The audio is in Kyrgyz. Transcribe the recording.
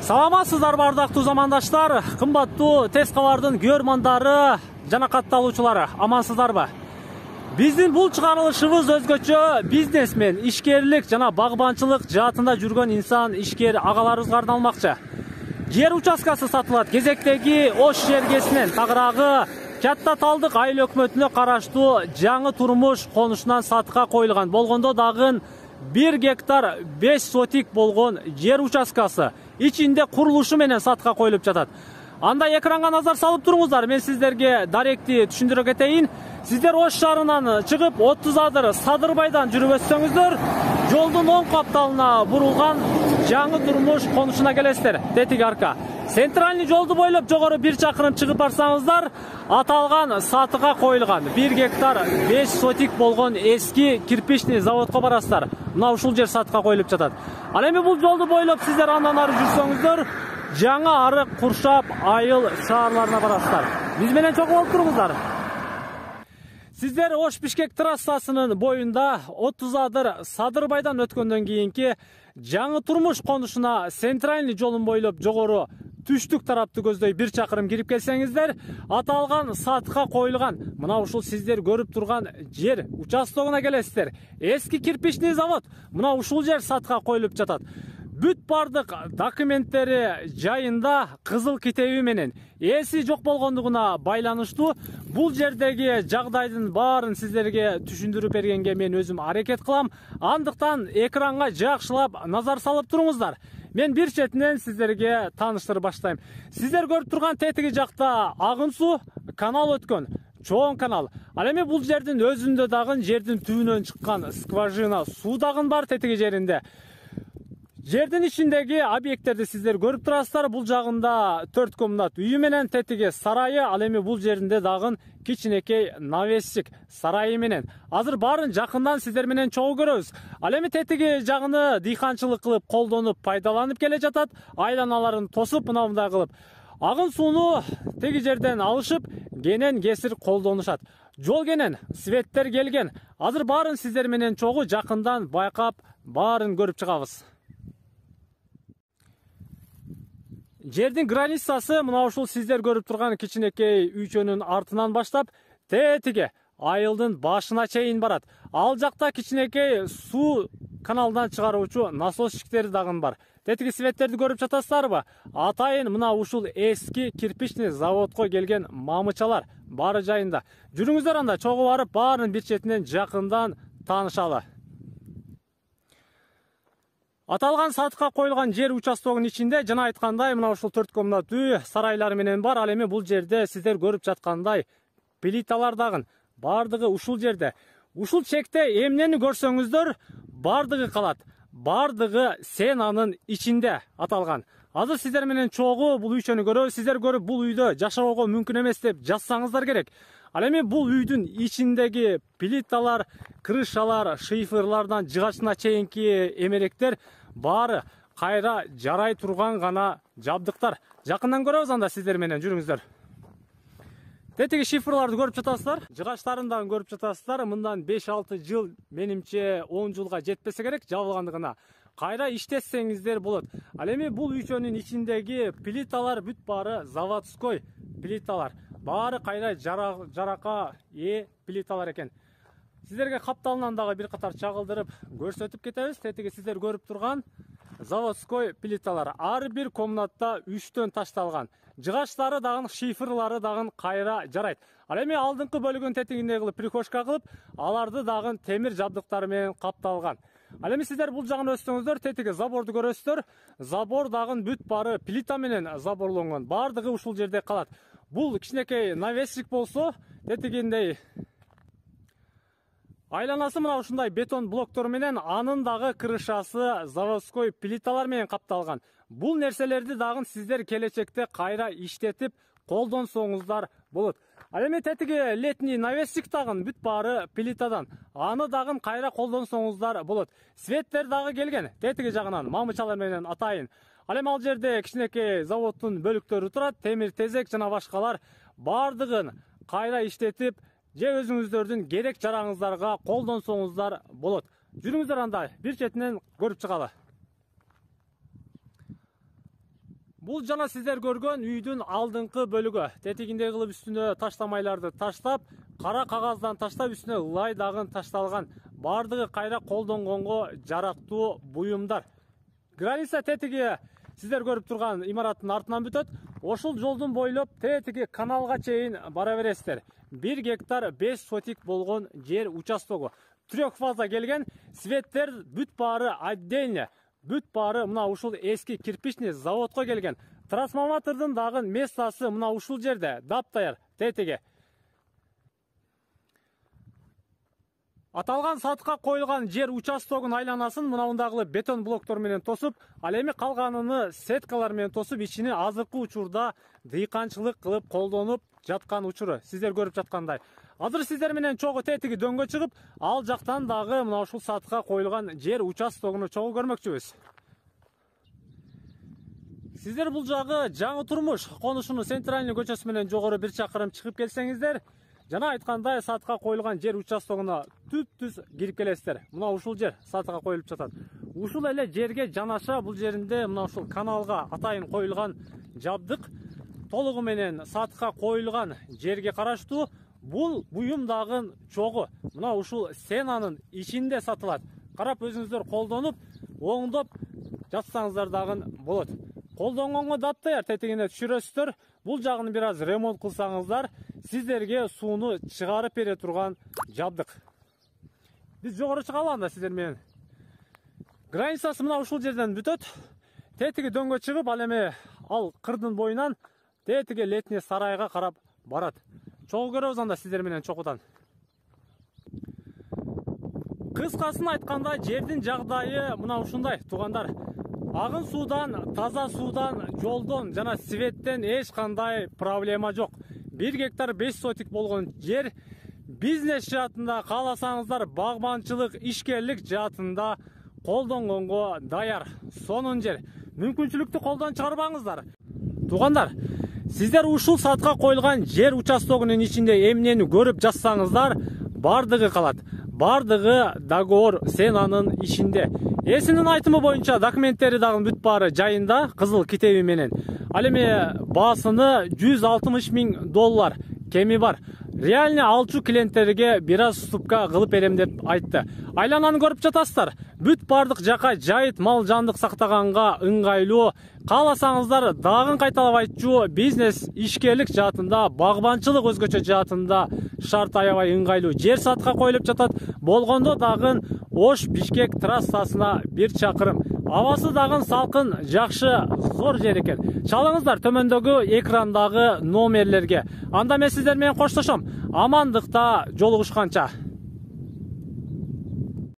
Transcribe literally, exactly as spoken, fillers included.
Саламатсыздар бардактуу замандаштар, кымбаттуу тез кабардын көрмандары жана катталуучулары, амансыздарбы? Биздин бул чыгарылышыбыз өзгөчө бизнесмен, ишкерлик жана багбанчылык жаатында жүргөн инсан ишкер агаларыбызга арналмакчы. Жер участкасы сатылат. Кезектеги Ош жергесинен тагыраагы Катта Талдык айыл өкмөтүнө караштуу жаңы турмуш конушунан сатыкка коюлган болгондо дагы бир гектар беш сотик болгон жер участкасы ичинде курулушу менен сатыкка коюлуп жатат. Анда экранга назар салып туруңуздар. Мен сиздерге даректи түшүндүрө кетейин. Сиздер Ош шаарынан чыгып отуз адыр Садырбайдан жүрүп өтсөңүздөр, жолдун оң капталына бурулган жаңы турмуш конушуна келесиздер. Тетиги арка. Центральный жолду бойлоп жогору бир чакырым чыгып барсаңыздар, аталган сатыкка коюлган бир гектар беш сотик болгон эски кирпичный заводко барасыздар. Мына ушул жер сатыкка коюлуп жатат. Ал эми бул жолду бойлоп сиздер андан ары жүрсөңүздөр, жаңы арык, Куршап, Айыл шаарларына барасыздар. Биз менен чогуу болуп туруңуздар. Сиздер Ош Бишкек трассасынын боюнда отуз адыр Садырбайдан өткөндөн кийинки жаңы турмуш конушуна Центральный жолун бойлоп жогору түштүк тарапты көздөй бир чакырым кирип келсеңиздер, аталган сатыкка коюлган мына ушул сиздер көрүп турган жер участогуна келесиздер. Эски кирпичный завод мына ушул жер сатыкка коюлуп жатат. Бүт бардык документтери жайында кызыл китеби менен ээси жок болгондугуна байланыштуу бул жердеги жагдайдын баарын сиздерге түшүндүрүп бергенге мен өзүм аракет кылам. Андыктан экранга жакшылап назар салып туруңуздар. Мен бир четинен сиздерге тааныштырып баштайм. Сиздер көрүп турган тетиги жакта агын суу канал өткөн. Чоң канал. Ал эми бул жердин өзүндө дагы жердин түбүнөн чыккан скважина суу дагы бар тетиги жеринде. Жердин ичиндеги объекттерди сиздер көрүп турасыздар. Бул жагында төрт комнат үйү менен тетиги сарайы, ал эми бул жеринде дагы кичинекей навесчик сарайы менен. Азыр баарын жакындан сиздер менен чогуу көрөбүз. Ал эми тетиги жагыны дыйканчылык кылып, колдонуп, пайдаланып келе жатат. Айланаларын тосуп, мына мындай кылып агын сууну теги жерден алышып, кенен кесир колдонушат. Жол кенен, светтер келген. Азыр баарын сиздер менен чогуу жакындан байкап, баарын көрүп чыгабыз. Жердин границасы мына ушул сиздер көрүп турган кичинекей үйчөнүн артынан баштап, тетиги айылдын башына чейин барат. Ал жакта кичинекей суу каналдан чыгаруучу насосчиктер дагы бар. Тетиги светтерди көрүп жатасыздарбы? Атайын мына ушул эски кирпичный заводко келген мамычалар баары жайында. Жүрүңүздөр анда чогуу барып, баарын бир четинен жакындан таанышалы. Аталган сатыкка коюлган жер участогунун ичинде жана айткандай мына ушул төрт комнат үй сарайлары менен бар. Ал эми бул жерде сиздер көрүп жаткандай плиталар дагы бардыгы ушул жерде. Ушул чекте эмнени көрсөңүздөр бардыгы калат. Бардыгы сенанын ичинде аталган. Азыр сиздер менен чогуу бул үйчөнү көрөбүз. Сиздер көрүп бул үйдө жашоого мүмкүн эмес деп жазсаңыздар керек. Ал эми бул үйдүн ичиндеги плиталар, крышалар, шифрлардан жыгачына чейинки эмеректер баары кайра жарай турган гана жабдыктар. Жакындан көрөбүз анда сиздер менен, жүрүңүздөр. Тетиги шифрларды көрүп жатасыздар, жыгачтарын дагы көрүп жатасыздар. Мындан беш алты жыл, менимче он жылга жетпесе керек жабылгандыгына. Кайра иштетсеңиздер болот. Ал эми бул үйчөнүн ичиндеги плиталар бүт баары заводской плиталар. Баары кайра жарака ээ плиталар экен. Сиздерге капталынан дагы бир катар чагылдырып көрсөтүп кетебиз. Тетиги сиздер көрүп турган заводской плиталар. Ар бир комнатта үчтөн ташталган. Жыгачтары дагы, шифрлары дагы кайра жарайт. Ал эми алдыңкы бөлүгүн тетигиндей кылып прихожка кылып, аларды дагы темир жабдыктары менен капталган. Ал эми сиздер бул жагын өссөңүздөр, тетиги заборду көрөсүздөр. Забор дагы бүт баары плита менен заборлонгон. Бардыгы ушул жерде калат. Бул кичинекей навесчик болсо, тетигиндей айланасы мына ушундай бетон блоктор менен, анын дагы крышасы заводской плиталар менен капталган. Бул нерселерди дагы сиздер келечекте кайра иштетип колдонсоңуздар болот. Ал эми тетиги летний навесчик дагы бүт баары плитадан. Аны дагы кайра колдонсоңуздар болот. Светтер дагы келген. Тетиги жагынан мамычалар менен атайын. Ал эми ал жерде кичинекей заводдун бөлүктөрү турат, темир тезек жана башкалар бардыгын кайра иштетип, же өзүңүздөрдүн керек жараңыздарга колдонсоңуздар болот. Жүрүңүздөр анда бир четинен көрүп чыгалы. Бул жана сиздер көргөн үйдүн алдыңкы бөлүгү. Тетигиндей кылып үстүнө таштамайларды таштап, кара кагаздан таштап үстүнө ылай дагы ташталган. Бардыгы кайра колдонгонго жарактуу буюмдар. Граница тетиги сиздер көрүп турган имараттын артынан бүтөт. Ошол жолдун бойлоп тетиги каналга чейин бара бересиздер. бир гектар беш сотик болгон жер участогу. Трёх фаза келген, светтер бүт баары отдельно. Бүт баары мына ушул эски кирпичный заводко келген. Трансформатордун дагы местасы мына ушул жерде, даптаяр тетиги. Аталган сатыкка коюлган жер участогун айланасын мынаундагы бетон блоктор менен тосуп, ал эми калганын сеткалар менен тосуп, ичини азыркы учурда дыйканчылык кылып колдонуп жаткан учуру сиздер көрүп жаткандай. Азыр сиздер менен чогуу тетиги дөңгө чыгып, ал жактан дагы мына ушул сатыкка коюлган жер участогуну чогуу көрмөкчүбүз. Сиздер бул жагы жаңы турмуш конушунун центральный көчөсү менен жогору бир чакырым чыгып келсеңиздер, жана айткандай сатыкка коюлган жер участогуна түп-түз кирип келесиздер. Мына ушул жер сатыкка коюлуп жатат. Ушул эле жерге жанаша бул жеринде мына ушул каналга атайын коюлган жабдык толугу менен сатыкка коюлган жерге караштуу. Бул буюм дагы чогуу. Мына ушул сенанын ичинде сатылат. Карап өзүңүздөр колдонуп, оңдоп жатсаңыздар дагы болот. Колдонгонго даптаяр тетигине түшүрөсүздөр. Бул жагын бир аз ремонт кылсаңыздар, сиздерге сууну чыгарып бере турган жабдык. Биз жогору чыгалы анда сиздер менен. Границасы мына ушул жерден бүтөт. Тетиги дөңгө чыгып, ал эми ал кырдын боюнан тетиги летний сарайга карап барат. Чогуу көрөбүз анда сиздер менен чокудан. Кыскасын айтканда, жердин жагдайы мына ушундай, туугандар. Агын суудан, таза суудан, жолдон жана светтен эч кандай проблема жок. бир гектар беш сотик болгон жер бизнес жаатында кааласаңыздар, багбанчылык, ишкерлик жаатында колдонгонго даяр. Сонун жер. Мүмкүнчүлүктү колдон чыгарбаңыздар. Туугандар, сиздер ушул сатыкка коюлган жер участогунун ичинде эмнени көрүп жатсаңыздар, бардыгы калат. Бардыгы договор сенанын ичинде. Эсинин айтымы боюнча документтери дагы бүт баары жайында, кызыл китеби менен. Ал эми баасыны жүз алтымыш миң доллар кеми бар. Реально алчу клиенттерге бир аз уступка кылып берем деп айтты. Айлананы көрүп жатасыздар. Бүт бардык жака жайыт мал жандык сактаганга ыңгайлуу. Кааласаңыздар дагы кайталап айтчу, бизнес ишкерлик жаатында, багбанчылык өзгөчө жаатында шарт аябай ыңгайлуу. Жер сатыкка коюлуп жатат. Болгондо дагы Ош Бишкек трассасына бир чакырым. Абасы дагы салкын, жакшы, зор жер экен. Чалыңыздар төмөндөгү экрандагы номерлерге. Анда мен сиздер менен коштошом. Амандыкта жолугушканча.